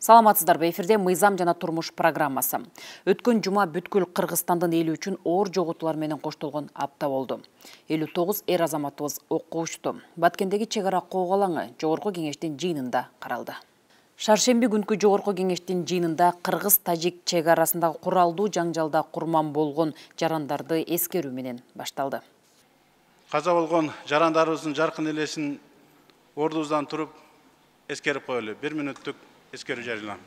Саламатсыздарбы, эфирде мыйзам жана турмуш программасы. Өткөн жума бүткүл Кыргызстандын эли үчүн оор жоготуулар менен коштолгон апта болду. 59 эр азаматыбыз окко учту. Баткендеги чек ара кол алаңы Жогорку кеңештин жыйынында каралды. Шаршемби күнкү Жогорку кеңештин жыйынында кыргыз-тажик чек арасындагы куралдуу жаңжалда курман болгон жарандарды эскерүү менен башталды. Каза болгон жарандарыбыздын жаркын элесин ордубуздан туруп эскерип коелу. 1 мүнөттүк эскерүү жарыяланды.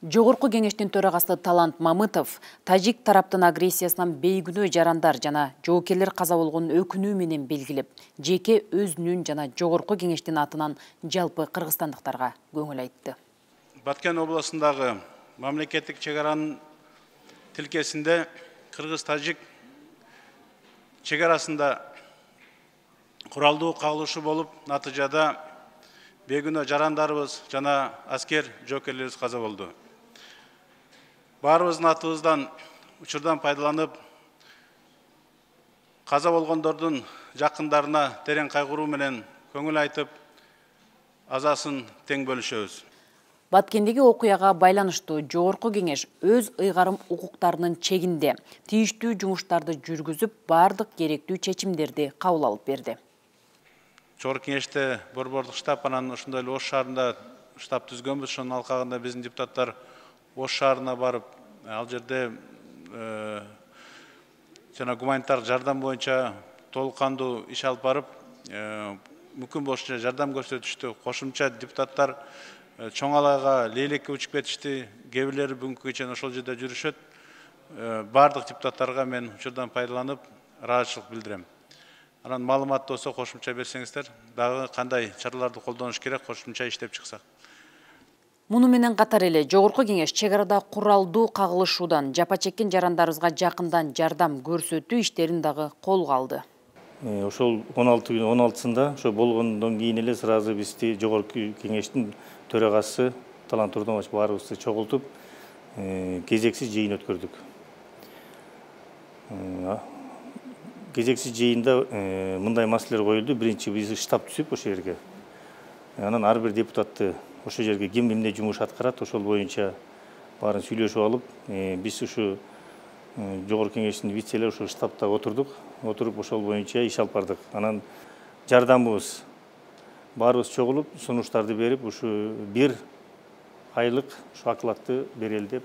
Жогорку кеңештин төрагасы Талант Мамытов тажик тараптын агрессиясынан бейгүнөө жарандар жана жоокерлер каза болгон өкүнүү менен белгилеп, жеке өзүнүн жана Жогорку кеңештин атынан жалпы кыргызстандыктарга көңүл айтты. Баткен областындагы мамлекеттик чек аранын тилкесинде кыргыз-тажик чек арасында куралдуу кагылышы болуп, натыйжада бейгүнөө жарандарыбыз жана аскер жоокерлерибиз каза болду. Баарыбыздын атыбыздан учурдан пайдаланып, каза болгондордун жакындарына терең кайгыруу менен көңүл айтып, азасын тең бөлүшөбүз. Баткендеги окуяга байланыштуу Жогорку кеңеш өз ыйгарым укуктарынын чегинде тийиштүү жумуштарды жүргүзүп, бардык керектүү чечимдерди кабыл алып берди. Жогорку кеңеште борбордук штаб анан ошондой эле Ош шаарында штаб түзгөнбүз. Ошонун алкагында биздин депутаттар Ош шаарына барып, ал жерде жана гуманитардык жардам боюнча толук кандуу иш алып барып, мүмкүн болушунча жардам көрсөтүштү. Кошумча депутаттар чоң алайга лейлекке учуп кетишти. Кээ бирлери бүгүнкү чейин ошол жерде жүрүшөт. Бардык депутаттарга мен учурдан пайдаланып ыраазычылык билдирем. Анан маалымат болсо кошумча берсеңиздер, дагы кандай чараларды колдонуш керек, кошумча иштеп чыксак. Муну менен катар эле Жогорку кеңеш чек арада куралдуу кагылышуудан жапа чеккен жарандарыбызга жакындан жардам көрсөтүү иштерин дагы колго алды. Ошол 16-сында ошо болгондон кийин эле сразу бизди Жогорку кеңештин төрагасы Талант Турдунович баарыбызды чогултуп, кезексиз жыйын өткөрдүк. Кезексиз жыйында мындай маселелер коюлду. Биринчи биз штаб түзүп ошол жерге. Анан ар бир депутатты ошол жерге ким эмне жумуш аткарат, ошол боюнча баарын сүйлөшүп алып, биз ушу Жогорку кеңештин вицелери ошол штабта отурдук. Отуруп ошол боюнча иш алып бардык. Анан жардамыбыз баарыбыз чогулуп, сунуштарды берип, ушу 1 айлык ушу окладты берели деп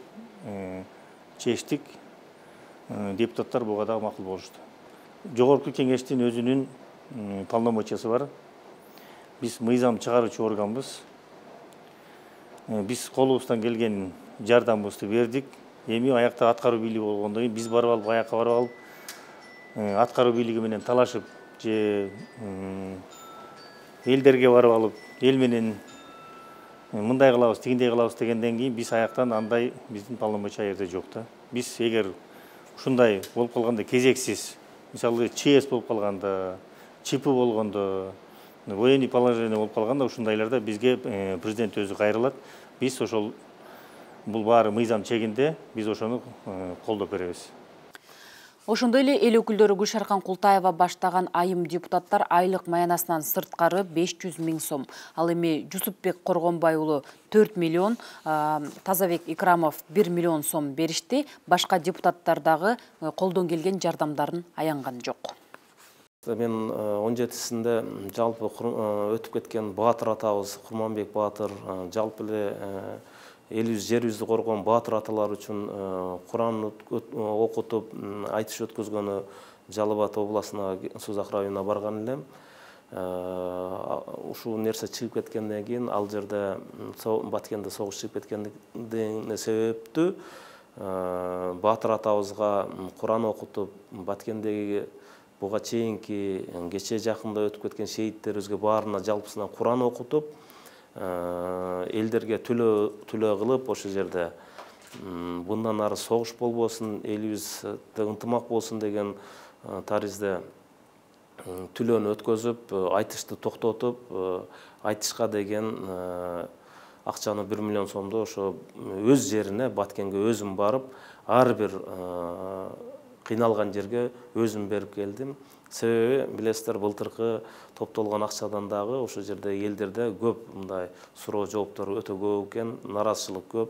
чечтик. Депутаттар буга дагы макул болушту. Жогорку кеңештин өзүнүн полномочиясы бар. Биз мыйзам чыгаруучу органбыз. Биз колубуздан келген жардамыбызды бердик. Эми аякта аткаруу бийлиги болгондон кийин биз барып алып, аякка барып алып, аткаруу бийлиги менен талашып же элдерге барып алып, эл менен мындай кылабыз, тигиндей кылабыз дегенден кийин биз аяктан андай биздин полномочия жерде жок да. Биз эгер ушундай болуп калганда кезексиз, мисалы ЧС болуп калганда, ЧП болгондо, военный положение болуп калганда ушундайларда бизге президент өзү кайрылат. Биз ошол бул баары мыйзам чегинде, биз ошону колдоп беребиз. Ошондой эле эл өкүлдөрү Гүлшаркан Култаева баштаган айым депутаттар айлык маянасынан сырткары 500 000 сом. Ал эми Жусупбек Коргонбай уулу 4 миллион, Тазабек Икрамов 1 миллион сом беришти. Башка депутаттар дагы колдон келген жардамдарын аянган жок. Мен 17-синде жалпы өтүп кеткен Баатыр атабыз, Курманбек Баатыр, жалпы эле элибиз, жерибизди коргон баатыр аталар үчүн Куран окутуп, айтыш өткөзгөнү Жалал Абад областына, Созак районуна барган элем. Ушул нерсе чыгып кеткенден кийин, ал жерде Баткенде согуш чыгып кеткендигине себептүү Баатыр атабызга Куран окутуп, Баткендеги буга чейинки кече жакында өтүп кеткен шейиттерибизге баарына жалпысынан Куран окутуп, элдерге түлөө кылып, ошол жерде мындан ары согуш болбосун, элибизде ынтымак болсун деген таризде түлөөнү өткөзүп, айтышты токтотуп, айтышка деген акчаны 1 миллион сомду ошо өз жерине, Баткенге өзүм барып, ар бир кыйналган жерге өзүм берип келдим. Себеби билесиздер, былтыркы топтолгон акчадан дагы ошол жерде элдерде көп мындай суроо жооптор өтө көп экен, наразычылык көп.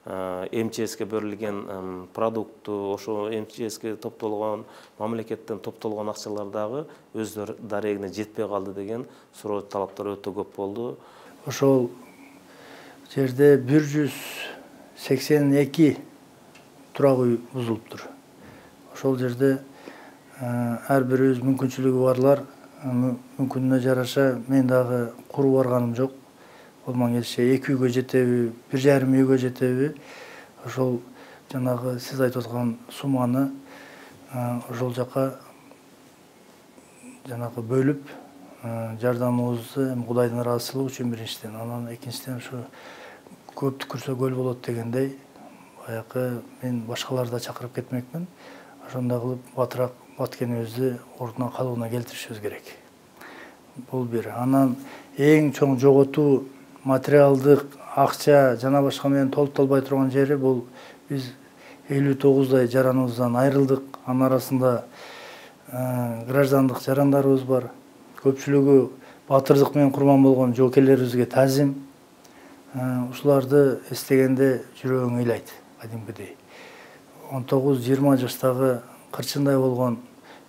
МЧСке берилген продуктту, ошо МЧСке топтолгон, мамлекеттен топтолгон акчалар дагы өздөрү дарегине жетпей калды деген суроо талаптар өтө көп болду. Ошол жерде 182 турак үй бузулуптур. Ошол жерде ар бирибиз мүмкүнчүлүгү барлар мүмкүнүнө жараша мен дагы куруп барганым жок. Колман келиши 2 үйгө жетеби, 1,5 үйгө жетеби, ошол жанагы сиз айтып аткан сумманы ошол жака жанагы бөлүп жардамыбызды Кудайдын ыраазычылыгы үчүн биринчиден, анан экинчиден ушу көп түкүрсө көл болот дегендей, баягы мен башкаларды да чакырып кетмекмин. Ошондой кылып батыраак Баткенибизди ордуна калыбына келтиришибиз керек. Бул бир. Анан эң чоң жоготуу материалдык, акча жана башка менен толукталбай турган жери бул биз 59 жараныбыздан айрылдык. Анын арасында граждандык жарандарыбыз бар. Көпчүлүгү батырдык менен курман болгон жоокерлерибизге таазим. Ушуларды эстегенде жүрөгүң ыйлайт кадимкидей. 19-20 жаштагы кырчындай болгон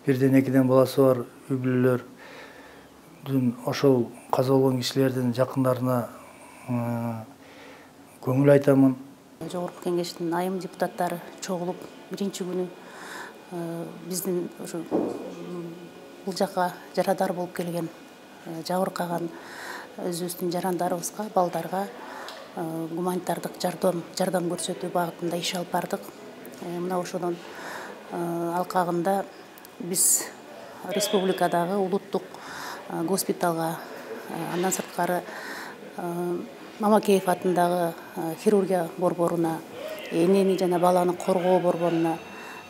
1-2 баласы бар үй-бүлөлөрдүн ошол каза болгон кишилердин жакындарына көңүл айтамын. Жогорку кеңештин айым депутаттары чогулуп биринчи күнү биздин ошо бул жака жарадар болуп келген жабыркаган өзүбүздүн жарандарыбызга, балдарга гуманитардык жардам көрсөтүү багытында иш алып бардык. Мына ошодон алкагында биз республикадагы улуттук госпиталга, андан сырткары Мамакеев атындагы хирургия борборуна, энени жана баланы коргоо борборуна,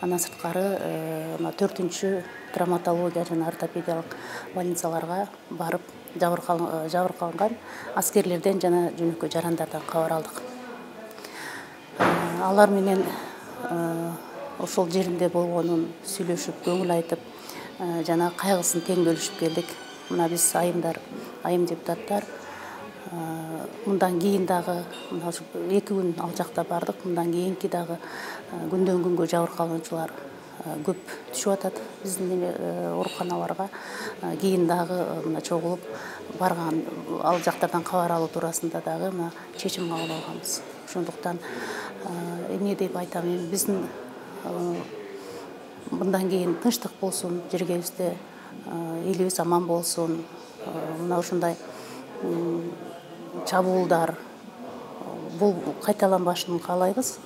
андан сырткары 4-чү травматология жана ортопедиялык больницаларга барып жабыркалган аскерлерден жана жөнөкөй жарандардан кабар алдык. Алар менен ошол жеринде болгонун сүйлөшүп, көңүл айтып, жана кайгысын тең бөлүшүп келдик. Мына биз айым депутаттар мындан кийин дагы 2 күн ал жакта бардык. Мындан кийинки дагы күндөн күнгө жабыркалуучулар көп түшүп атат биздин ооруканаларга. Кийин дагы мына чогулуп барган ал жактардан кабар алуу туурасында дагы мына чечим кабыл алганбыз. Ошондуктан эмне деп айтам, биздин мындан кийин тынчтык болсун, жергебизде элибиз аман болсун. Мына ушундай чабуулдар бул кайталанбашын каалайбыз.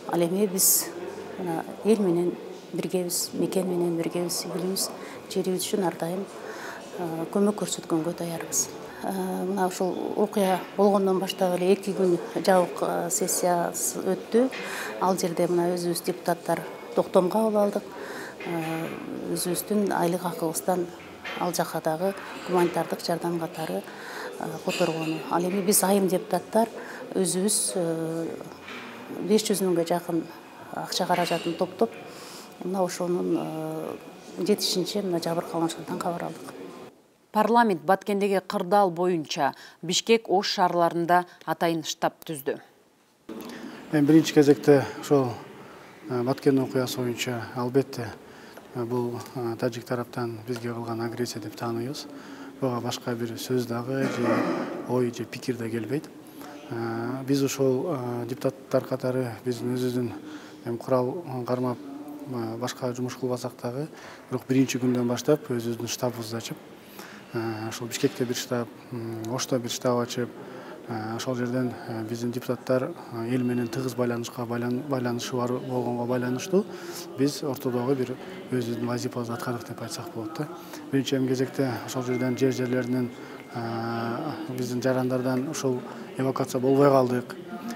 Ал эми биз эл менен биргебиз, мекен менен биргебиз, элибиз, жерибиз үчүн ар дайым көмөк көрсөткөнгө даярбыз. Мына ушул окуя болгондон баштап эле 2 күн жабык сессиясы өттү. Ал жерде мына өзүбүз депутаттар токтом кабыл алдык. Өзүбүздүн айлык акыбыздан ал жака дагы гуманитардык жардам катары которгону. Ал эми биз айым депутаттар өзүбүз 500 миңге жакын акча каражатын топтоп, мына ошонун жетишинче мына жабыркалган кабар алдык. Парламент Баткендеги кырдаал боюнча Бишкек, Ош шаарларында атайын штаб түздү. Мен биринчи кезекте ошол Баткен окуясы боюнча албетте бул тажик тараптан бизге кылган агрессия деп тааныйбыз. Буга башка бир сөз дагы же ой же пикир да келбейт. Биз ошол депутаттар катары биздин өзүбүздүн курал кармап башка жумуш кылбасак дагы, бирок биринчи күндөн баштап өзүбүздүн штабыбызды ачып, ошол Бишкекте бир штаб, Ошто бир штаб ачып, ошол жерден биздин депутаттар эл менен тыгыз байланышы бар болгонго байланыштуу биз ортодогу бир өзүбүздүн вазифабызды аткардык деп айтсак болот да. Биринчи кезекте ошол жерден жерлеринен биздин жарандардан ушул эвакуация болбой калдык,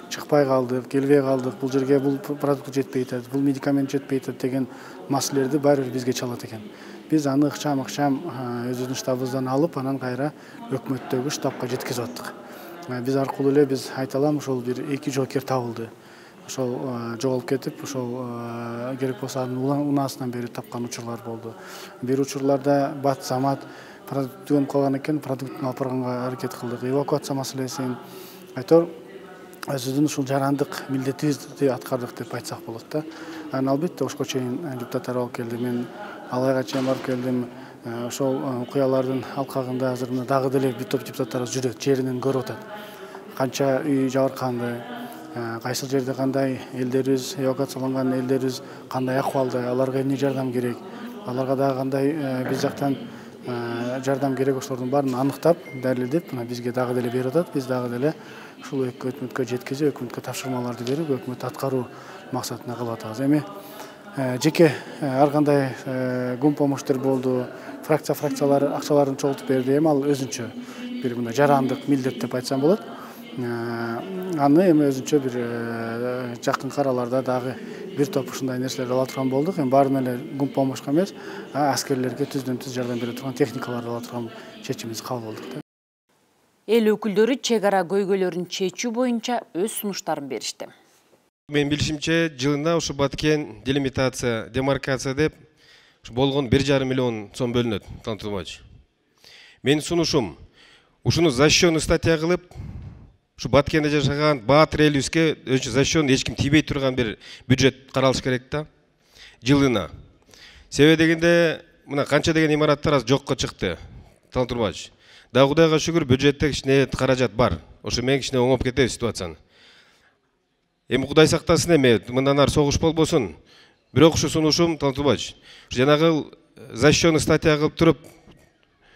чыкпай калдык, келбей калдык, бул жерге бул продукт жетпей атат, бул медикамент жетпей атат деген маселелерди баары бир бизге чалат экен. Биз аны ыкчам өзүбүздүн штабыбыздан алып, анан кайра өкмөттөгү штабка жеткизип аттык. Биз аркылуу эле биз айта алам, ошол бир 2 жоокер табылды. ошол жоголуп кетип, ошол керек болсо анын унаасынан бери тапкан учурлар болду. Бир учурларда бат замат продукт өнүп калган экен, продуктун алып барганга аракет кылдык. Эвакуация маселесин айтор өзүбүздүн ушул жарандык милдетибизди аткардык деп айтсак болот да. Анан албетте ошко чейин депутаттар алып келди. Мен Алайга чейин барып келдим. Ошол окуялардын алкагында азыр мына дагы деле бир топ депутаттар жүрөт, жеринен көрүп атат. Канча үй жабырканды, кайсыл жерде кандай элдерибиз, эвакуацияланган элдерибиз кандай акыбалда, аларга эмне жардам керек, аларга дагы кандай биз жактан жардам керек, ошолордун баарын аныктап, далилдеп, мына бизге дагы деле берип атат. Биз дагы деле ушул өкмөткө жеткизип, өкмөткө тапшырмаларды берип, өкмөт аткаруу максатына кылып атабыз. Эми жеке ар кандай гум помощтор болду, фракциялар акчаларын чогултуп берди. Эми ал өзүнчө бир мындай жарандык милдет деп айтсам болот. Аны эми өзүнчө бир жакынкы араларда дагы бир топ ушундай нерселерди ала турган болдук. Эми баарын эле гум помощка эмес, аскерлерге түздөн-түз жардам бере турган техникаларды ала турган чечимибизди кабыл кылдык. Эл өкүлдөрү чек ара көйгөйлөрүн чечүү боюнча өз сунуштарын беришти. Мен билишимче, жылына ушу Баткен делимитация, демаркация деп болгон 1,5 миллион сом бөлүнөт, Тантурбач. Менин сунушум, ушуну защищенный статья кылып, ушу Баткенде жашаган баатыр элибизге защищенный эч ким тийбей турган бир бюджет каралыш керек да, жылына. Себеби дегенде, мына канча деген имараттар аз жокко чыкты, Тантурбач. Да Кудайга шүгүр, бюджетте кичине каражат бар. Ошо менен кичине оңоп кетет ситуацияны. Эми Кудай сактасын, эми мындан ары согуш болбосун. Бирок ушу сунушум, Тантурбач, жанагы защищенный статья кылып туруп,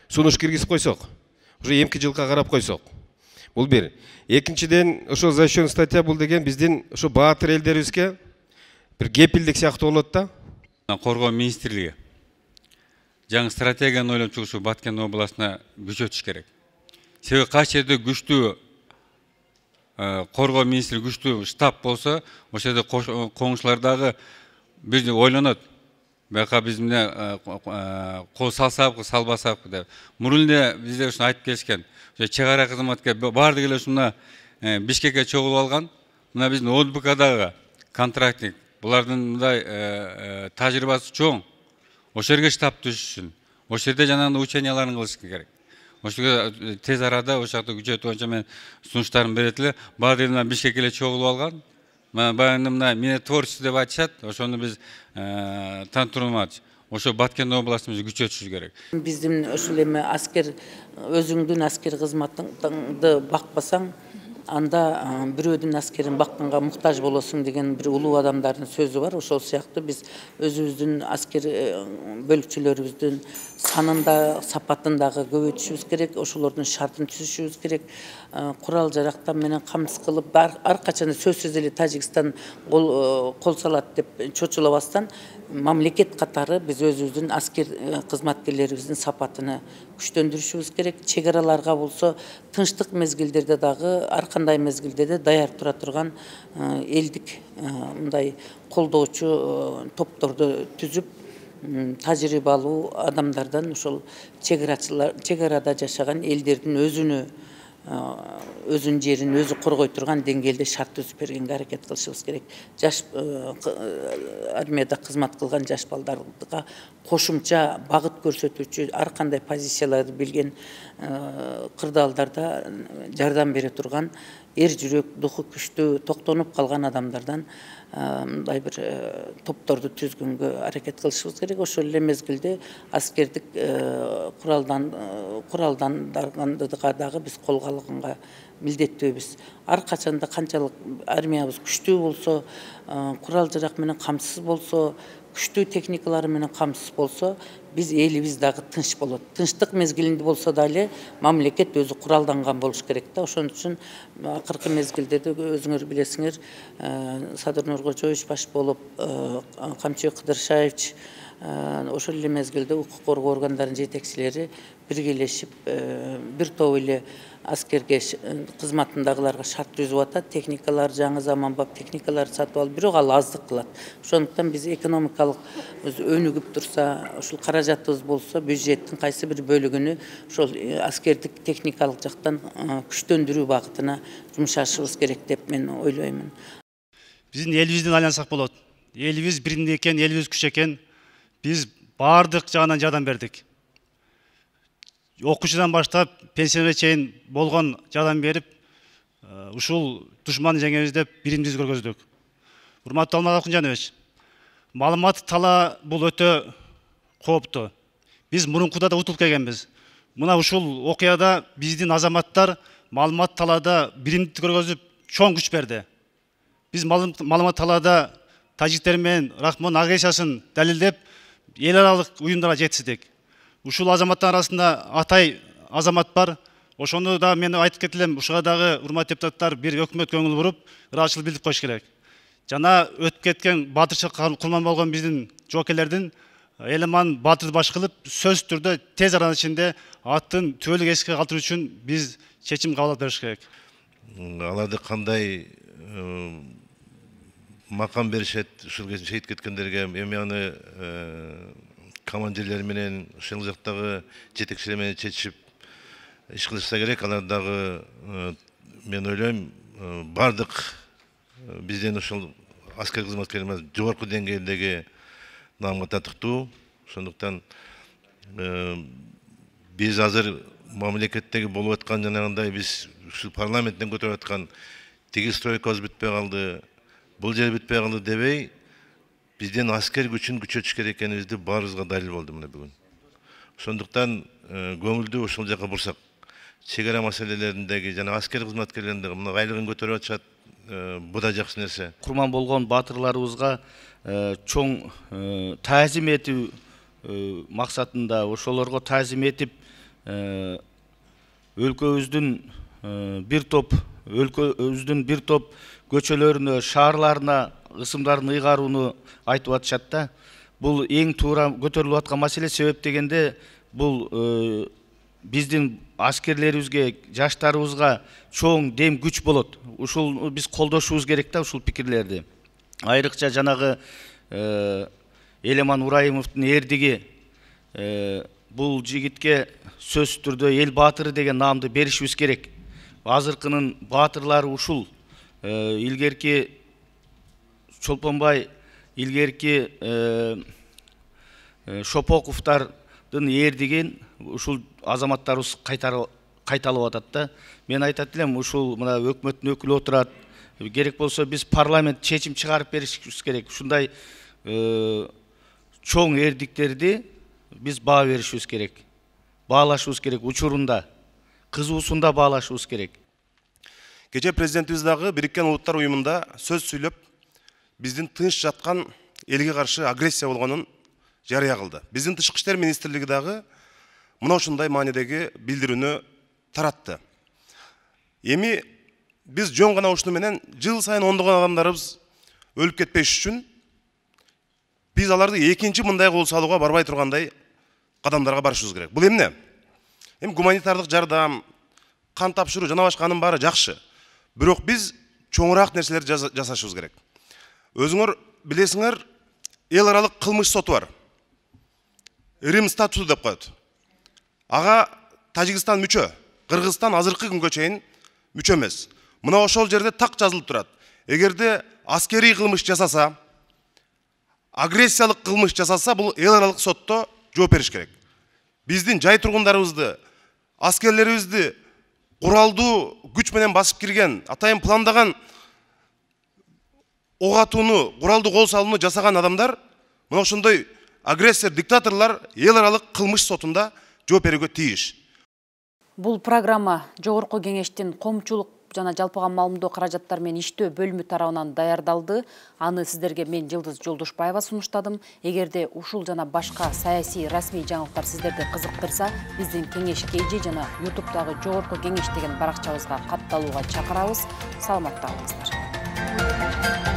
сунуш киргизип койсок, уже эмки жылга карап койсок. Бул бир. Экинчиден, ошол защищенный статья бул деген биздин ушу баатыр элдерибизге бир кепилдик сыяктуу болот да. Коргоо министрлиги жаңы стратегияны ойлоп чыгушу Баткен областына күчөтүш керек. Себеби кайсы жерде күчтүү коргоо министри күчтүү штаб болсо, ошол жерде коңшулар дагы бизди ойлонот. Бияка биз эмне кол салсакпы, салбасакпы деп. Мурун эле бизде ушуну айтып келишкен. Чек ара кызматка баардык эле ушуна Бишкекке чогулуп алган. Мына биздин ОДБКдагы контрактник, булардын мындай тажрыйбасы чоң. Ошол жерге штаб түзүшүн. Ошол жерде жанагындай ученияларын кылыш керек. Ошого тез арада ошол жакта күчөтүү боюнча мен сунуштарым берет эле. Баардык эле Бишкекке эле чогулуп алган. Баягы мына минотворчество деп айтышат. Ошону биз Тантурмач, ошо Баткен областыбызды күчөтүшүбүз керек. Биздин ошол эми аскер өзүңдүн аскер кызматыңды бакпасаң, анда бирөөдүн аскерин бакканга муктаж болосуң деген бир улуу адамдардын сөзү бар. Ошол сыяктуу биз өзүбүздүн аскер бөлүкчөлөрүбүздүн санын да, сапатын дагы көбөйтүшүбүз керек. Ошолордун шартын түзүшүбүз керек. Курал жарактар менен камсыз кылып, ар качан сөзсүз эле Тажикстан кол салат деп чочулабастан, мамлекет катары биз өзүбүздүн аскер кызматкерлерибиздин сапатыны күчтөндүрүшүбүз керек. Чек араларга болсо тынчтык мезгилдерде дагы ар кандай мезгилде даяр тура турган элдик мындай колдоочу топторду түзүп, тажрыйбалуу адамдардан ошол чек арада жашаган элдердин өзүнүн жерин өзү коргой турган деңгээлде шарт түзүп бергенге аракет кылышыбыз керек. Жаш армияда кызмат кылган жаш балдарга кошумча багыт көрсөтүүчү ар кандай позицияларды билген кырдаалдарда жардам бере турган эр жүрөк, духу күчтүү, токтонуп калган адамдардан мындай бир топторду түзгөнгө аракет кылышыбыз керек. Ошол эле мезгилде аскердик куралдандарганга дагы биз колго алганга милдеттүүбүз. Ар качанда канчалык армиябыз күчтүү болсо, курал жарак менен камсыз болсо, күчтүү техникалары менен камсыз болсо, биз элибиз дагы тынч болот. Тынчтык мезгилинде болсо дагы мамлекет өзү куралданган болуш керек да. Ошон үчүн акыркы мезгилдерде өзүңөр билесиңер, Садыр Нуркожоевич баш болуп, Камчыбек Кыдыршаевич, ошол эле мезгилде укук коргоо органдарынын жетекчилери биргелешип, бир топ эле аскерге кызматындагыларга шарт түзүп атат. Техникалар, жаңы заманбап техникаларды сатып алып, бирок ал аздык кылат. Ошондуктан биз экономикалык өнүгүп турса, ошол каражатыбыз болсо, бюджеттин кайсы бир бөлүгүнү ошол аскердик техникалык жактан күчтөндүрүү багытына жумшашыбыз керек деп мен ойлоймун. биздин элибизден айлансак болот. Элибиз биринде экен, элибиз күч экен. Биз баардык жагынан жардам бердик. Окуучудан баштап пенсияга чейин болгон жардам берип, ушул душманды жеңебиз деп биримдиз көргөздүк. Урматтуу Алмаз Акунжанович, маалымат тала бул өтө кооптуу. Биз мурункуда да утулуп келгенбиз. Мына ушул окуяда биздин азаматтар маалымат талаада биримдикти көргөзүп чоң күч берди. Биз маалымат талаада тажиктер менен Рахмон агрессиясын далилдеп, эл аралык уюмдарга жеткиздик. Ушул азаматтар арасында Атай азамат бар. Ошону да мен айтып кетилем, ушуга дагы урматтуу депутаттар бир өкмөт көңүл буруп, ыраазычылык билдирип коюш керек. Жана өтүп кеткен баатырчылык курман болгон биздин жоокерлердин Элеман баатырды баш кылып, сөз түрдө тез арада ичинде аттын түбөлүк эске калтыруу үчүн биз чечим кабыл алып бериш керек. Аларды кандай макам беришет ушул шейит кеткендерге, эми аны командирлер менен ушул жактагы жетекчилер менен чечип иш кылышса керек. Алар дагы мен ойлойм бардык бизден ушул аскер кызматкерлерimiz жогорку деңгээлдеги намга татыктуу. Ошондуктан биз азыр мамлекеттеги болуп аткан жанагындай биз ушул парламенттен көтөрүп аткан тиги стройкабыз бүтпөй калды, бул жер бүтпөй калды дебей, бизден аскер күчүн күчөтүш керек экенибизди баарыбызга далил болду мына бүгүн. Ошондуктан көңүлдү ушул жака бурсак, чек ара маселелериндеги жана аскер кызматкерлеринде мына айлыгын көтөрүп атышат, бу да жакшы нерсе. Курман болгон баатырларыбызга чоң таазим этүү максатында ошолорго таазим этип өлкөбүздүн бир топ көчөлөрүнө, шаарларына ысымдарын ыйгарууну айтып атышат да. Бул эң туура көтөрүлүп аткан маселе. Себеп дегенде бул биздин аскерлерибизге, жаштарыбызга чоң дем күч болот. Ушул биз колдошубуз керек да ушул пикирлерди. Айрыкча жанагы Элеман Урайымовдун эрдиги бул жигитке сөзсүз түрдө эл баатыры деген наамды беришибиз керек. Азыркынын баатырлары ушул. Илгерки Чолпонбай, илгерки Шопоковдардын эрдигин ушул азаматтарыбыз кайталап атат да. Мен айтат элем, ушул мына өкмөттүн өкүлү отурат. Керек болсо биз парламент чечим чыгарып беришибиз керек. Ушундай чоң эрдиктерди биз баа беришибиз керек. Баалашыбыз керек учурунда, кызуусунда баалашыбыз керек. Кечээ президентибиз дагы Бириккен Улуттар уюмунда сөз сүйлөп, биздин тынч жаткан элге каршы агрессия болгонун жарыя кылды. Биздин Тышкы иштер министрлиги дагы мына ушундай маанидеги билдирүүнү таратты. Эми биз жөн гана ушуну менен жыл сайын ондогон адамдарыбыз өлүп кетпеш үчүн биз аларды экинчи мындай кол салууга барбай тургандай кадамдарга барышыбыз керек. Бул эмне? Эми гуманитардык жардам, кан тапшыруу жана башканын баары жакшы. Бирок биз чоңураак нерселерди жасашыбыз керек. Өзүңөр билесиңер, эл аралык кылмыш соту бар. Рим статусу деп коет. Ага Тажикстан мүчө, Кыргызстан азыркы күнгө чейин мүчө эмес. Мына ошол жерде так жазылып турат. Эгерде аскерий кылмыш жасаса, агрессиялык кылмыш жасаса, бул эл аралык сотто жооп бериш керек. Биздин жай тургундарыбызды, аскерлерибизди куралдуу күч менен басып кирген, атайын пландаган ок атууну, куралдуу кол салууну жасаган адамдар, мына ошондой агрессор, диктаторлор эл аралык кылмыш сотунда жооп берүүгө тийиш. Бул программа Жогорку кеңештин коомчулук жана жалпыга маалымдоо каражаттар менен иштөө бөлүмү тарабынан даярдалды. Аны сиздерге мен Жылдыз Жолдошбаева сунуштадым. Эгерде ушул жана башка саясий расмий жаңылыктар сиздерди кызыктырса, биздин кеңеш KG жана YouTube'дагы Жогорку кеңеш деген баракчабызга катталууга чакырабыз. Саламатта болуңуздар.